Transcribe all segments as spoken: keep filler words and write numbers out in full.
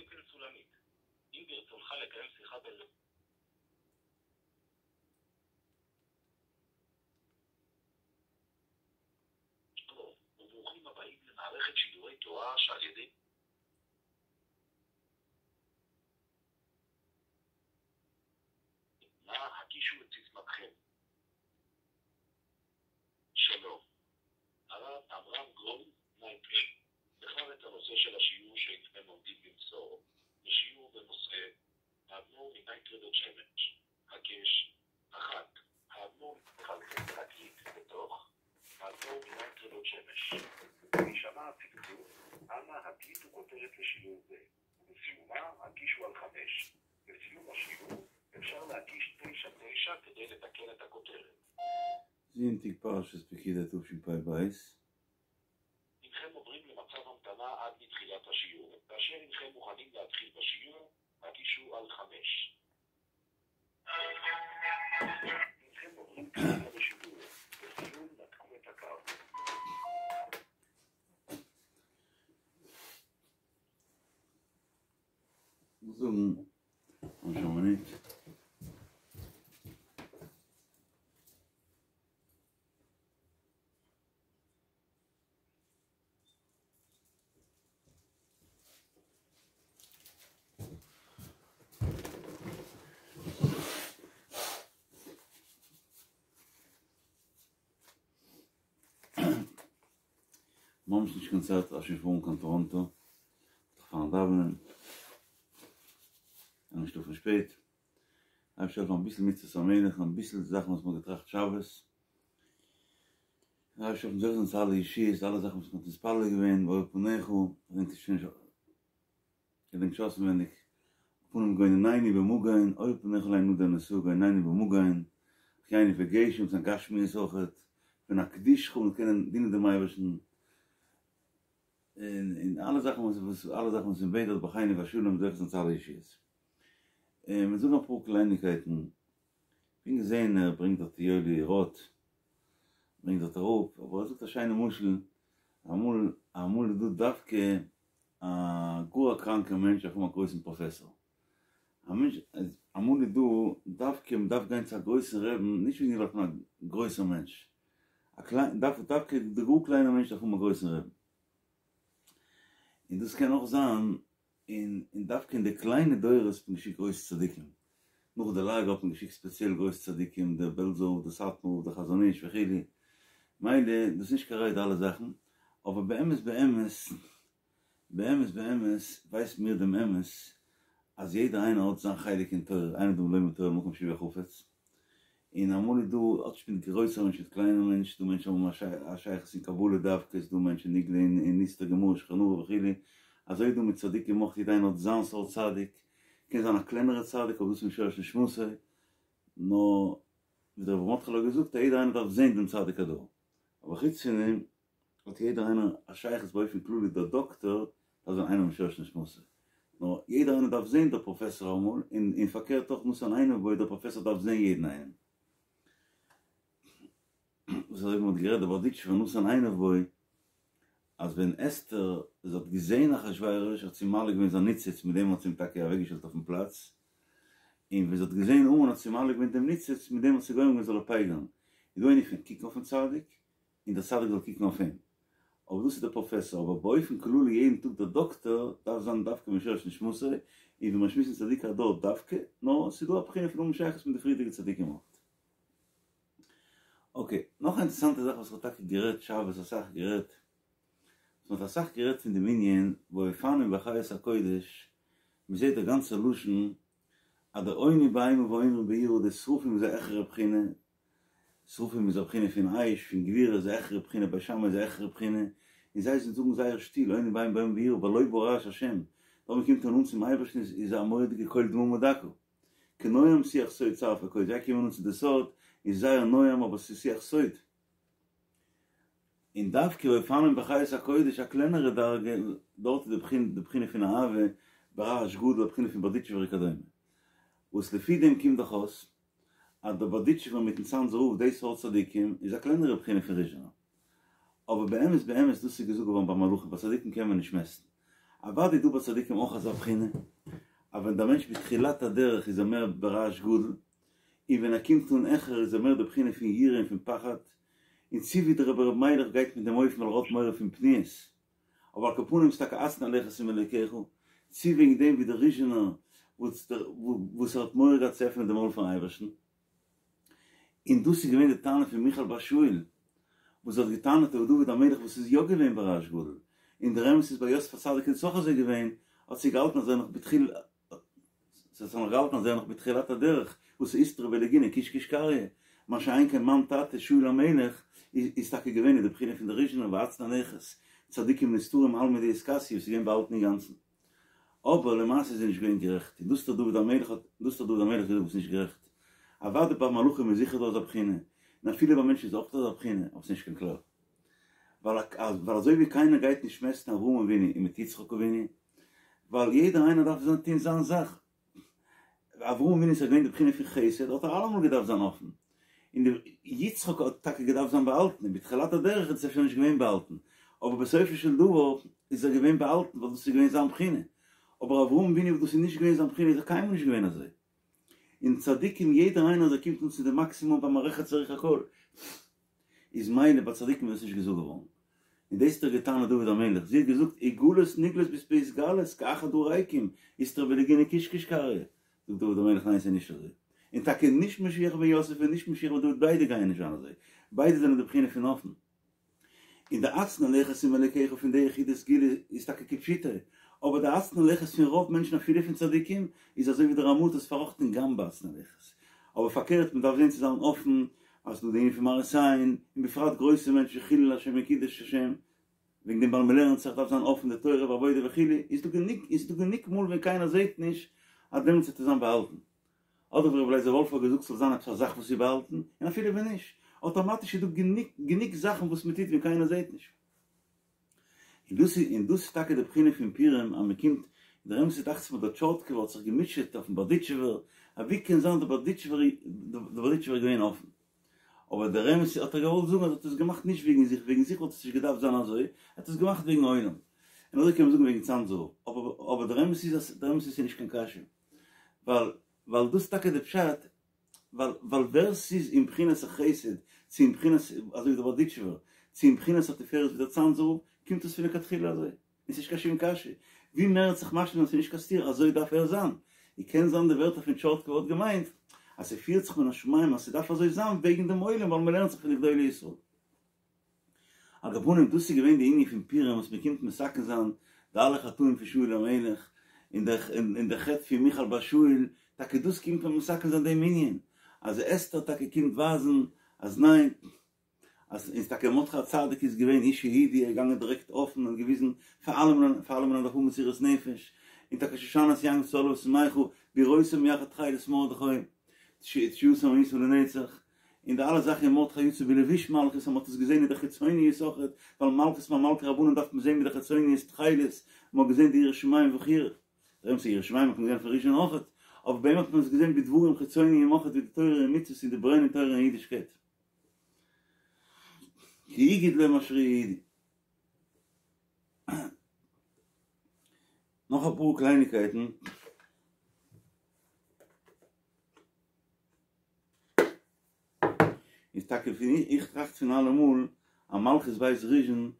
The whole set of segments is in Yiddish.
פניתם לסולמית. אם ברצונך לקיים שיחה בין... שלום, וברוכים הבאים למערכת שידורי תורה שעל ידי... נא הגישו את סיסמתכם. שלום. הרב עמרם גרון נייטרן בחר את הנושא של השיעור שהנכם עומדים למסור. לשיעור בנושא האדמו"ר מנייטרא בית שמש. הקש אחת. האדמו"ר מחלחל להקליט בתוך האדמו"ר מנייטרא בית שמש. בהישמע הצקצוק, אנא הקליטו כותרת לשיעור זה, ובסיומה הקישו על חמש. בסיום השיעור אפשר להקיש תשע תשע כדי לתקן את הכותרת. זונטאג פרשת פקודי תשפ"ב. הנכם עוברים למצב המתנה עד לתחילת השיעור. כאשר הנכם מוכנים להתחיל בשיעור, הקישו על חמש. הנכם עוברים כרגע לשיעור. לסיום נתקו את הקו. זאגן א מינוט. ממש נישט קיין צייט אז שוין פארן קיין טאראנטא, זיך פארן דאווענען, און נישט שלאפן שפעט, אייבערשטער העלפן אביסל מצוות המלך, אביסל זאכן וואס מ'האט געטראכט שבת, אייבערשטער העלפן זוכה זיין צו אלע ישועות, אלע זאכן וואס מ'האט מתפלל געווען, באור פניך, געדענק נישט שוין געדענק נישט אויסנווענדיג, פנים גוננני במגן, אור פניך עלי נדור ונשא גוננני במגן, החייני בגשם, זיין גשמיות אויכעט, פון אקדישך און קענען דינען דעם אייבערשטן, און און אלע זאכן וואס וואס אלע זאכן וואס מען בעט דארט בחיינו בשלום זוכה זיין צו אלע ישועות. און מיר זאגן אפאר קלייניקייטן, כ'בין געזען ער ברענגט דארט יואלי ראט, ברענגט דארט אראפ, אבער ער זאגט א שיינע משל, אמאל אמאל איז דא דווקא א גאר א קראנקער מענטש דארף האבן א גרויסן פראפעסאר, א מענטש אמאל איז דא דווקא מען דארף גיין צו א גרויסן רעבן נישט וועגן ווייל כ'בין א גרויסער מענטש, א קליין דארף דווקא די גאר קליינער מענטש דארף האבן א גרויסן רעבן, און דאס קען אויך זיין און און דווקא אין די קליינע דורות האט מען געשיקט גרויסע צדיקים, נאך די לאגער האט מען געשיקט ספעציעל גרויסע צדיקים, דער בעלזער רב, דער סאטמאר רב, דער חזון איש וכו', מילא דאס איז נישט קיין ראיה די אלע זאכן, אבער באמת באמת באמת באמת ווייסן מיר דעם אמת אז יעדער איינער האט זיין חלק אין תורה, אין אדם לומד תורה במקום שהוא חפץ, און אמאל איז דא, האט נישט מיט גרויסער מענטש מיט קליינער מענטש, דא מענטשן האבן א שייכות אין קבלה דווקא, ס'דא מענטשן נגלה אין נסתר גמרא שולחן ערוך וכו', אזוי איז דא מיט צדיקים אויך, יעדער איינער האט זיין סארט צדיק, קען זיין א קלענערע צדיק אבער דאס איז משורש נשמתו, נאר ווי דער רבי מרדכי'לע האט געזאגט אז יעדער איינער דארף זען דעם צדיק הדור, אבער חוץ פון דעם האט יעדער איינער א שייכות באופן כללי דער דאקטאר דארף זיין איינער משורש נשמתו, נאר יעדער איינער דארף זען דער פראפעסאר אמאל, און און פארקערט אויך נתן עיניו בו דער פראפעסאר דארף זען יעדן איינעם. וואס אזוי ווי מען האט גערעדט דער בארדיטשובער נתן עיניו בו אז ווען אסתר זי האט געזען אחשורוש האט זי מעלה געווען זיין ניצוץ מיט דעם האט זי אים טאקע אוועקגעשטעלט אויפן פלאץ, און ווען זי האט געזען המן האט זי מעלה געווען דעם ניצוץ מיט דעם האט זי גורם געווען זאל ער פייגערן, איז דא ענין פון קוקן אויפן צדיק און דער צדיק זאל קוקן אויף אים. אבער דאס איז דער פראפעסאר, אבער באופן כללי יעדן טאג דער דאקטאר דארף זיין דווקא משורש נשמתו, און ווי מיר שמועסן צדיקי הדור דווקא, נאר ס'איז דא א בחינה פון האבן שייכות מיט די פריערדיגע צדיקים אויך. אקעי, נאך א אינטערעסאנטע זאך וואס איך האב טאקע גערעדט שבת אסאך גערעדט, וואס מ'האט אסאך גערעדט פון דעם ענין והאופנים בחיות הקודש, מ'זעט דער גאנצער לשון אז די עונים באימה ואומרים ביראה די שרפים איז א העכערע בחינה, שרפים איז א בחינה פון אש, פון גבורה איז א העכערע בחינה, בית שמאי איז א העכערע בחינה, און זיי זאגן זייער שטיל, עונים באימה ואומרים ביראה, ווייל לא ברעש השם, דארט מ'קומט אן אן צום אייבערשטן איז איז א מורא'דיגע קול דממה דקה, כנועם שיח סוד שרפי קודש, זיי קומען אן צו די סוד, איז זייער נועם אבער ס'איז שיח סוד. און דווקא והאופנים בחיות הקודש א קלענערע דרגה, דארט איז די בחינה פון אהבה, ברעש גדול, א בחינה פון בארדיטשובער וכדומה. וואס לפי דעם קומט דאך אויס אז דער בארדיטשובער מיטן צאנזער רב די סארט צדיקים איז א קלענערע בחינה פון ריזשינער. אבער באמת באמת דאס איז געזאגט געווארן ביי מלאכים ביי צדיקים קען מען נישט מעסטן. אוודאי איז דא ביי צדיקים אויך אזא בחינה, אז ווען דער מענטש בתחילת הדרך איז ער מער ברעש גדול, און ווען ער קומט אן העכער איז ער מער די בחינה פון יראה און פון פחד, און צו ווי דער רבי ר' מיילעך גייט מיט דעם אופן ווייל ער האט מורא פון פניות, אבער על כל פנים איז טאקע הצנע לכת עם אלוקיך, צו וועגן דעם ווי דער ריזשינער וואס ער האט מורא געהאט צו עפענען די מויל פארן אייבערשטן. און דאס איז געווען די טענה פון מיכל בת שאול, וואס זי האט געטענה'ט אויף דוד המלך וואס איז יא געווען ברעש גדול, און דער אמת איז ביי יוסף הצדיק איז עס אויך אזוי געווען, האט זי געהאלטן אז ער נאך בתחיל זי האט נאך געהאלטן אז ער נאך בתחילת הדרך, וואס איז איסתרא בלגינא קיש קיש קריא, מה שאין כן מיין טאטע שאול המלך איז טאקע געווען אין די בחינה פון די ריזשינער והצנע לכת, צדיקים נסתרים עלמא דאתכסיא וואס איז געווען באהאלטן אינגאנצן. אבער למעשה איז זי נישט געווען גערעכט, און דאס האט דוד המלך האט דאס האט דוד המלך געזאגט ביסט נישט גערעכט. אוודאי ביי מלאכים איז זיכער דא אזא בחינה, און אפילו ביי מענטשן איז אויך דא אזא בחינה, אבער ס'איז נישט קיין כלל. ווייל ווייל אזוי ווי קיינער גייט נישט מעסטן אברהם אבינו און מיט יצחק אבינו, ווייל יעדער איינער דארף זיין טון זיין זאך. אברהם אבינו איז געווען די בחינה פון חסד, האט ער אלעמאל געדארפט זיין אפן. און די יצחק האט טאקע געדארפט זיין באהאלטן, און בתחילת הדרך איז עס אפשר נישט געווען באהאלטן, אבער בסופו של דבר איז ער געווען באהאלטן ווייל דאס איז געווען זיין בחינה. אבער אברהם אבינו וואס דאס איז נישט געווען זיין בחינה איז ער קיינמאל נישט געווען אזוי. און צדיקים יעדער איינער אז ער קומט אן צו די מאקסימום במערכת צריך הכל. איז מילא ביי צדיקים איז דאס נישט געזאגט געווארן. און דאס האט ער געטענה'ט דוד המלך, זי האט געזאגט וגלות נגלית בהתגלות כאחד הריקים, איסתרא בלגינא קיש קיש קריא. זאגט דוד המלך ניין ס'איז נישט אזוי. און טאקע נישט משיח בן יוסף און נישט משיח בן דוד ביידע גייען נישט זיין אזוי. ביידע זענען די בחינה פון אפן. און די הצנע לכת עם אלוקיך פון די יחידי סגולה איז טאקע כפשוטו, אבער די הצנע לכת פון רוב מענטשן אפילו פון צדיקים איז אזוי ווי די רמ"א האט עס פארראכטן גם בהצנע לכת. אבער פארקערט מען דארף זען צו זיין אפן אז ס'דא די ענין פון מראית עין, און בפרט גרויסע מענטשן חילול השם און קידוש השם, וועגן דעם ווייל מען לערנט זיך דארף זיין אפן די תורה ועבודה וכו', איז דא גענוג איז דא גענוג מאל ווען קיינער זעט נישט אז דעמאלטס וועט עס זיין באהאלטן. אדער ווי רבי לייזער וואלף האט געזאגט ס'זאל זיין עפעס א זאך וואס איז באהאלטן, און אפילו ווען נישט, אטאמאטיש איז דא גענוג גענוג זאכן וואס מען טוט ווען קיינער זעט נישט. און דאס איז און דאס איז טאקע די בחינה פון פורים אז מען קומט, דער אמת איז דאכט זיך מיר דער טשארטקעווער האט זיך געמוטשעט אויפן בארדיטשובער, אז ווי קען זיין דער בארדיטשובער דער בארדיטשובער איז געווען אפן. אבער דער אמת איז האט ער געוואלט זאגן אז ער האט עס געמאכט נישט וועגן זיך, וועגן זיך וואלט עס נישט געדארפט זיין אזוי, ער האט עס געמאכט וועגן עולם. און אזוי קען מען זאגן וועגן צאנזער רב. אבער אבער דער אמת איז אז דער אמת איז ס'איז נישט קיין קשיא. ווייל ווייל דאס איז טאקע די פשט, ווייל ווייל ווער ס'איז אין בחינת החסד, צו אין בחינת אזוי ווי דער בארדיטשובער, צו אין בחינת התפארת ווי דער צאנזער רב, קומט עס פון לכתחילה אזוי. און ס'נישט קיין שום קשיא. ווי מער ער האט זיך משלים אז ס'איז נישט קיין סתירה, אזוי דארף ער זיין. און קען זיין די ווערטער פון טשארטקוב האט געמיינט אז ס'פירט זיך מן השמים אז ס'דארף אזוי זיין וועגן דעם עולם ווייל מ'לערנט זיך פון די גדולי ישראל. על כל פנים דאס איז געווען די ענין פון פורים וואס מ'קומט מתקן זיין די אלע חטאים פון שאול המלך און די און די חטא פון מיכל בת שאול, טאקע דאס קומט מען מתקן זיין דעם ענין אז אסתר טאקע קומט ווייזן אז ניין אז איז טאקע מרדכי הצדיק איז געווען איש יהודי ער איז געגאנגען דירעקט אפן און געוויזן פאר אלעמען פאר אלעמען אז מ'דארף האבן מסירות נפש און טאקע שושנת יעקב צהלה ושמחה בראותם יחד תכלת מרדכי תשועתם היתה לנצח און די אלע זאכן און מרדכי יצא בלבוש מלכות אז מ'האט עס געזען אין די חיצוניות אויכעט ווייל מלכות ממלכי רבנן דארף מען זען מיט די חיצוניות תכלת מ'האט געזען די יראת שמים וכו' דער אמת איז יראת שמים האט מען געזען פון ראשון אויכעט אבער ביי אים האט מען עס געזען בדברים חיצוניים אויכעט ווי די תורה און מצוות און די ברען אין תורה און אידישקייט. כי הגיד להם אשר יהודי. נאך אפאר קלייניקייטן. איז טאקע פון איך טראכט פון אלעמאל אז מלכות בית ראשון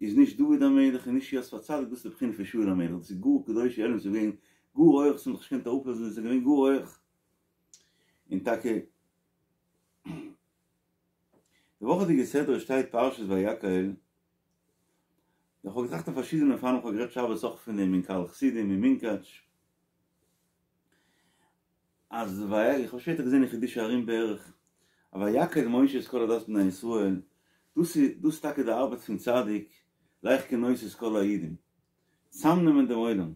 איז נישט דוד המלך און נישט יוסף הצדיק דאס איז די בחינה פון שאול המלך דאס איז גאר קדושי עליון ס'איז געווען גאר הויך ס'האט זיך נישט געקענט אראפלאזן ס'איז געווען גאר הויך און טאקע די וואכעדיגע סדרה שטייט פרשת ויקהל, איך האב געטראכט אויף פארשידענע אופנים, איך האב גערעדט שבת אויך פון דעם אין קהל חסידים אין מונקאטש, אז ויקהל, איך האב שפעטער געזען אין חידושי הרי"ם בערך, אז ויקהל משה את כל עדת בני ישראל, דאס איז דאס איז טאקע די ארבעט פון צדיק, לך כנוס את כל היהודים, צאמנעמען דעם עולם,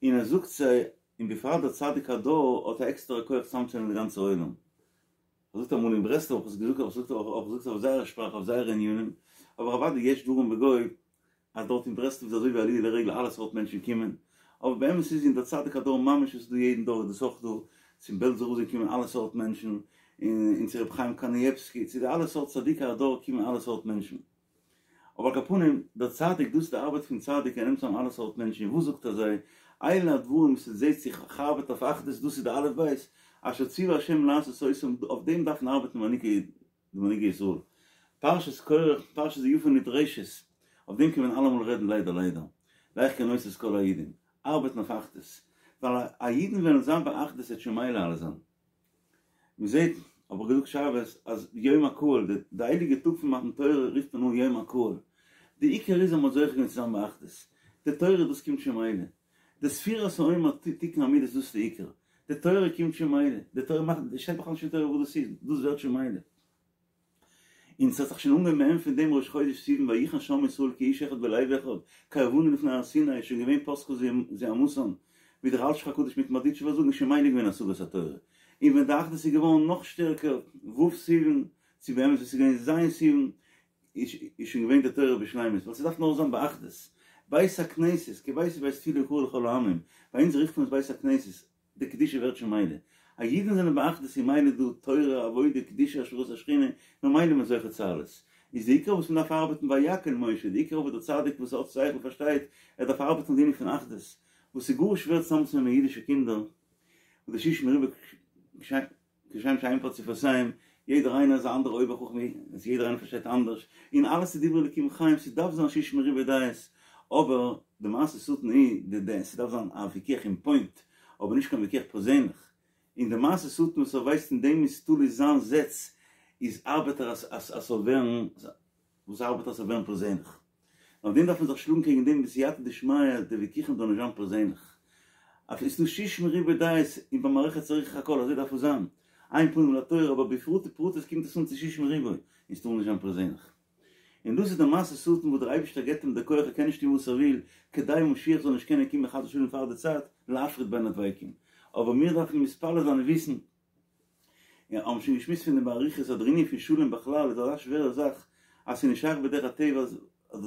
און ער זאגט זיי, און בפרט דער צדיק הדור האט א עקסטערע כח צאמצונעמען די גאנצע עולם. ער זאגט אמאל אין ברסלב האב איך עס געזאגט האב איך געזאגט האב איך געזאגט אויף זייער שפראך אויף זייערע ענינים, אבער אוודאי יש דברים בגו אז דארט אין ברסלב איז אזוי ווי עליה לרגל אלע סארט מענטשן קומען, אבער באמת איז אין דער צדיק הדור ממש וואס איז דא יעדן דור איז דאס אויך דא, צום בעלזער רב קומען אלע סארט מענטשן, און צו רבי חיים קנייבסקי, צו די אלע סארט צדיקי הדור קומען אלע סארט מענטשן. אבער על כל פנים, דער צדיק, דאס איז די ארבעט פון צדיק, ער נעמט צוזאם אלע סארט מענטשן, און וואס זאגט ער זיי? אלה הדברים וואס עס זעט זיך, איך ארבעט אויף אחדות, דאס איז די אלף בית, אשר ציווה השם לעשות אותם, אויף דעם דארפן ארבעטן מנהיגי די מנהיגי ישראל. פרשת קרח, פרשת יפה נדרשת, אויף דעם קען מען אלעמאל רעדן ליידער ליידער. לך כנוס את כל היהודים. ארבעטן אויף אחדות. ווייל א אידן וועלן זיין באחדות וועט שוין מילא אלעס זיין. מען זעט, האב איך געזאגט שבת, אז יום הקהל, די הייליגע טאג פון מתן תורה רופט מען אן יום הקהל. די עיקר איז אז מען האט זוכה געווען צו זיין באחדות. די תורה דאס קומט שוין מילא. די ספירת העומר תיקון המידות דאס איז די עיקר. די תורה קומט שוין מילא. די תורה מאכט, שטייט בכלל נישט אין תורה וואס דאס איז, דאס ווערט שוין מילא. און ס'האט זיך שוין אנגעהויבן מעין פון דעם ראש חודש סיוון ויחן שם ישראל כאיש אחד בלב אחד קרבנו לפני הר סיני איז שוין געווען פסקה זוהמתן ווי דער אלשיך הקדוש מיטן בארדיטשובער זאגן איז שוין מילא געווען השגת התורה און ווען די אחדות איז געווארן נאך שטערקער ו' סיוון צו באמת ווען ס'איז געווען ז' סיוון איז שוין געווען די תורה בשלימות ווייל ס'דארף נאר זיין באחדות בית הכנסת כי ביתי בית תפילה יקרא לכל העמים ביי אונז רופט מען עס בית הכנסת די קדושה ווערט שוין מילא. אז אידן זענען באחדות איז מילא דא תורה, עבודה, קדושה, השראת השכינה, ממילא איז מען זוכה צו אלעס. איז די עיקר וואס מען דארף ארבעטן ויקהל משה, די עיקר וואס דער צדיק וואס האט שכל פארשטייט, ער דארף ארבעטן אויף די ענין פון אחדות, וואס איז גאר שווער צוזאמצונעמען אידישע קינדער, וואס די שישים ריבוא כשם שאין פרצופיהם, יעדער איינער איז א אנדערע אויבער חכם, יעדער איינער פארשטייט אנדערש, און אלעס איז דברי אלקים חיים, ס'דארף זיין שישים ריבוא דעות, אבער די מעשה שטן איז, די די ס'דארף זיין א וויכוח אין פוינט, אבער נישט קיין וויכוח פערזענליך, און די מעשה שטן וואס ער ווייסט אין דעם איז תלוי זיין זעץ, איז ארבעט ער אז אז ס'זאל ווערן, וואס ארבעט אז ס'זאל ווערן פערזענליך. אויף דעם דארף מען זיך שלאגן קעגן דעם בסייעתא דשמיא אז די וויכוחים זאלן נישט זיין פערזענליך. אפי' ס'איז דא שישים ריבוא דעות און במערכת צריך הכל אזוי דארף עס זיין. אין פנים לתורה אבער בפרטי פרטות קומט עס אן צו שישים ריבוא און ס'טאר נישט זיין פערזענליך. און דאס איז די מעשה שטן וואס דער אייבישטער געבט אים די כח ער קען נישט טון וואס ער וויל כדי משיח זאל נישט קענען קומען חס ושלום פאר די צייט להפריד בין הדבקים. אבער מיר דארפן מתפלל זיין און וויסן און האבן שוין געשמועסט פון דעם באריכות אז דער ענין פון שלום בכלל איז אזא שווערע זאך אז ס'איז נישט שייך בדרך הטבע אז אז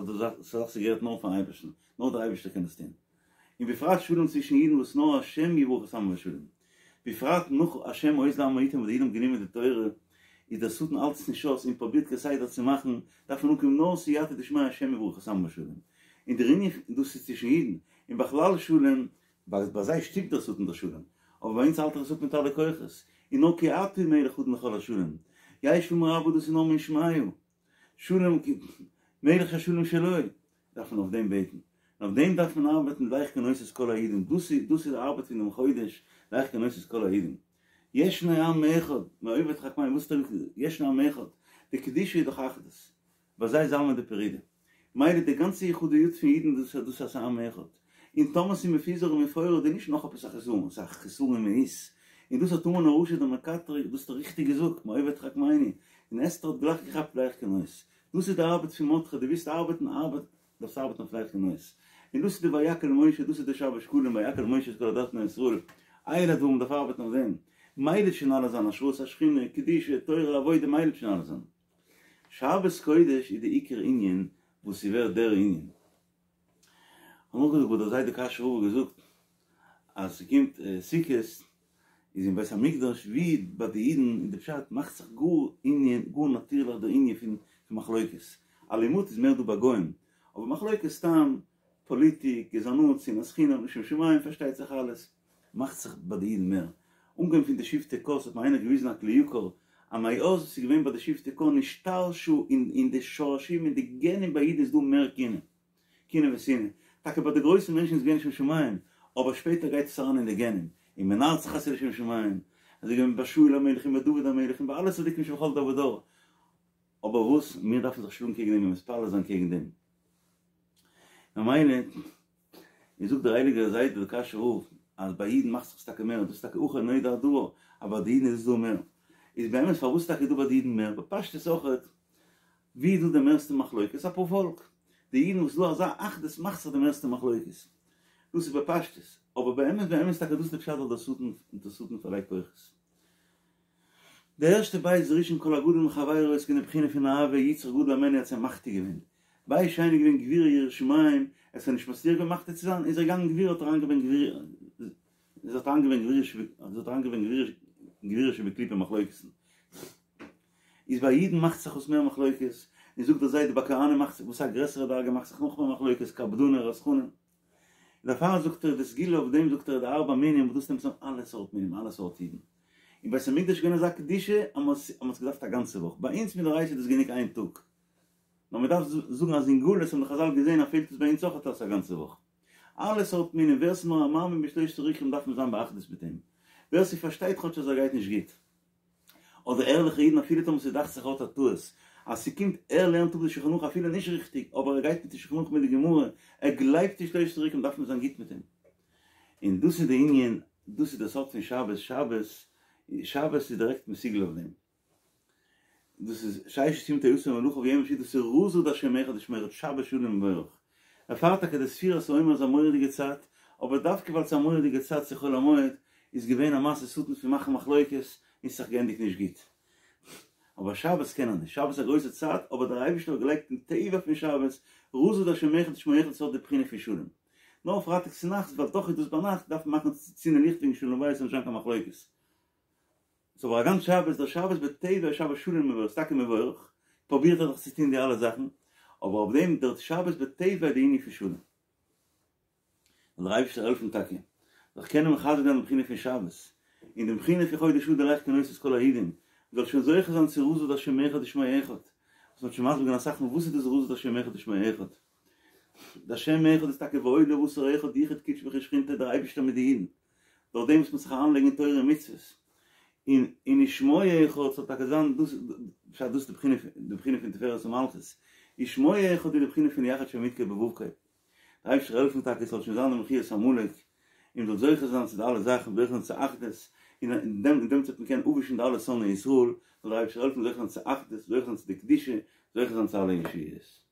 דאס זאך ס'געהערט נאר פארן אייבערשטן, נאר דער אייבערשטער קען עס טון. און בפרט שלום צווישן אידן וואס נאר השם יברך את עמו בשלום. בפרט נאך השם עוז לעמו יתן וואס די אידן האבן גענומען די תורה, איז דער שטן האלט עס נישט אויס און פרובירט כסדר צו מאכן, דארף מען אנקומען נאר סייעתא דשמיא השם יברך את עמו בשלום. און דער ענין פון דאס איז צווישן אידן, און בכלל שלום, ביי זיי שטופט דער שטן דער שלום, אבער ביי אונז האלט ער עס אפ מיט אלע כוחות, און נאר כי אתה הוא מלך אדון לכל השלום, יהא שלמא רבא דאס איז נאר מן שמיא, שלום מלך שהשלום שלו, דארף מען אויף דעם בעטן, און אויף דעם דארף מען ארבעטן לך כנוס את כל היהודים, דאס איז דאס איז די ארבעט פון דעם חודש, לך כנוס את כל היהודים. ישנו עם אחד, מאויבי תחכמני, וואס טוט ישנו עם אחד, די קדושה איז דאך אחדות, ביי זיי איז עלמא דפרידא. מילא די גאנצע יחודיות פון אידן דאס איז דאס אז ס'איז עם אחד. און טאמער ס'איז מפוזר ומפורד איז נישט נאך עפעס א חסרון, ס'איז א חסרון אין מהות. און דאס האט המן הרשע דער מקטרג דאס האט ער ריכטיג געזאגט, מאויבי תחכמני. און אסתר האט גלייך געכאפט לך כנוס. דאס איז די ארבעט פון מרדכי, דו ווילסט ארבעטן, ארבעט, דארפסט ארבעטן אויף לך כנוס. און דאס איז די ויקהל משה, דאס איז די שבת שקלים, ויקהל משה את כל עדת בני ישראל. אלה הדברים, מ'דארף ארבעטן אויף דעם. מילא וועט שוין אלעס זיין, השראת השכינה, קדושה, תורה, עבודה, מילא וועט שוין אלעס זיין. שבת קודש איז די עיקר ענין וואס ס'ווערט דער ענין. כ'האב נאכגעזאגט וואס דער זיידע קאשוי רב האט געזאגט אז ס'קומט סוכות איז אין בית המקדש ווי ביי די אידן אין די פשט מאכט זיך גאר ענין גאר נאטירליך דער ענין פון מחלוקת. אלימות איז מער דא ביי גוים אבער מחלוקת סתם פאליטיק גזענות שנאת חינם לשם שמים פארשטייט זיך אלעס. מאכט זיך ביי די אידן מער. אנגעהויבן פון די שבטי קה האט מיר איינער געוויזן א כלי יקר אז מאז וואס איז געווען ביי די שבטי קה נשתרשו אין די שורשים אין די גענען ביי אידן איז דא מער קנאה. קנאה ושנאה. טאקע ביי די גרויסע מענטשן איז געווען לשם שמים, אבער שפעטער גייט עס אריין אין די גענען, און מען נארט זיך אז ס'איז לשם שמים. אזוי געווען ביי שאול המלך און ביי דוד המלך און ביי אלע צדיקים שבכל דור ודור. אבער וואס? מיר דארפן זיך שלאגן קעגן דעם און מתפלל זיין קעגן דעם. ממילא. און זאגט דער הייליגער זיידע דער קאשוי רב אז ביי אידן מאכט זיך עס טאקע מער, דאס איז טאקע אכן נודע הדבר אז ביי די אידן איז עס דא מער, איז באמת פארוואס טאקע איז דא ביי די אידן מער, בפשטות אויכעט ווי איז דא די מערסטע מחלוקת, א פארפאלק, די אידן וואס איז דא אזא אחדות מאכט זיך די מערסטע מחלוקת, דאס איז בפשטות, אבער באמת באמת טאקע דאס איז די פשט ווייל דער שטן דער שטן פארלייגט כוחות. די ערשטע בית ראשון כל הגדול מחבירו איז געווען די בחינה פון אהבה יצר גדול הימנו האט זיי מחטיא געווען, בית שני איז געווען גבורה יראת שמים, עס איז נישט מצליח געווען מחטיא צו זיין, איז ער געגאנגען גבורה האט אריינגעברענגט גבורה, עס האט אריינגעברענגט גבורה עס האט אריינגעברענגט גבורה שבקליפה מחלוקת'ן. איז ביי אידן מאכט זיך אויס מער מחלוקת, און זאגט דער זיידע ביי כהנים מאכט זיך וואס א גרעסערע דרגה מאכט זיך נאכמער מחלוקת קפדני רתחני דערפאר זאגט ער די סגולה אויף דעם זאגט ער די ארבע מינים וואס דאס נעמט צוזאם אלע סארט מינים אלע סארט אידן אין בית המקדש איז געווען אזא קדושה אז מען האט געדארפט א גאנצע וואך ביי אונז מדאורייתא איז דאס גענוג איין טאג נאר מען דארף זאגן אז אין גלות האבן די חזל געזען אז פעלט עס ביי אונז אויך אויס א גאנצע וואך אלע סארט מינים ווער ס'איז נאר א מאמין בשלושת עיקרים דארף מען זיין באחדות מיט אים ווער ס'פארשטייט כאטש אז ער גייט נישט גוט אדער ערליכע אידן אפילו טאמער ס'דאכט זיך ער האט א טעות אז ס'קומט ער לערנט אפ די שולחן ערוך אפילו נישט ריכטיג אבער ער גייט מיט די שולחן ערוך מיט די גמרא ער גלייבט אין שלושת עיקרים דארף מען זיין גוט מיט אים און דאס איז די ענין דאס איז די סוד פון שבת שבת שבת איז דירעקט מסוגל אויף דעם דאס איז ששת ימים תעשה מלאכה וביום השביעי דאס איז רזא דהשם אחד ושמו אחד שבת שלום ומבורך דערפאר טאקע די ספירת העומר איז א מורא'דיגע צייט אבער דווקא ווייל ס'איז א מורא'דיגע צייט צו חול המועד איז געווען א מעשה שטן פון מאכן מחלוקת און ס'זיך געענדיגט נישט גוט. אבער שבת קען ער נישט, שבת איז א גרויסע צייט אבער דער אייבערשטער האט געלייגט אין טבע פון שבת רזא דהשם אחד ושמו אחד ס'האט די בחינה פון שלום. נאר פרייטאג צונאכטס ווייל דאך איז דאס ביינאכט דארף מען מאכן צינדן ליכט וועגן שלום בית ס'זאל נישט זיין קיין מחלוקת. ס'איז אבער א גאנץ שבת, דער שבת בטבע איז שבת שלום ומבורך, ס'טאקע מבורך, פרובירט ער דאך צו טון די אלע זאכן, אבער אויף דעם דער שבת בטבע איז די ענין פון שלום. זאל דער אייבערשטער העלפן טאקע זיך קענען מחזק זיין די בחינה פון שבת, און די בחינה פון חודש אדר לייכט כנוס את כל היהודים, מ'זאל שוין זוכה זיין צו רזא דהשם אחד ושמו אחד, וואס מ'האט שוין מסביר געווען אסאך מאל וואס איז דאס רזא דהשם אחד ושמו אחד, דהשם אחד איז טאקע ועוד לבשר אחד יחוד קודשא בריך הוא ושכינתיה דער אייבערשטער מיט די אידן, דורך דעם וואס מ'וועט זיך אריינלייגן אין תורה און מצוות, און און ושמו אחד זאל טאקע זיין דאס פשט דאס איז די בחינה די בחינה פון תפארת ומלכות, ושמו אחד איז די בחינה פון יחד שם יוד קי ואו קי, דער אייבערשטער העלפן טאקע עס זאל שוין זיין די מחיית עמלק, און מ'זאל זוכה זיין צו די אלע זאכן, זוכה זיין צו אחדות, און אין דעם אין דעם וועט מען קענען אפווישן די אלע שונאי ישראל, זאל דער אייבערשטער העלפן זוכה זיין צו אחדות, זוכה זיין צו די קדושה, זוכה זיין צו אלע ישועות.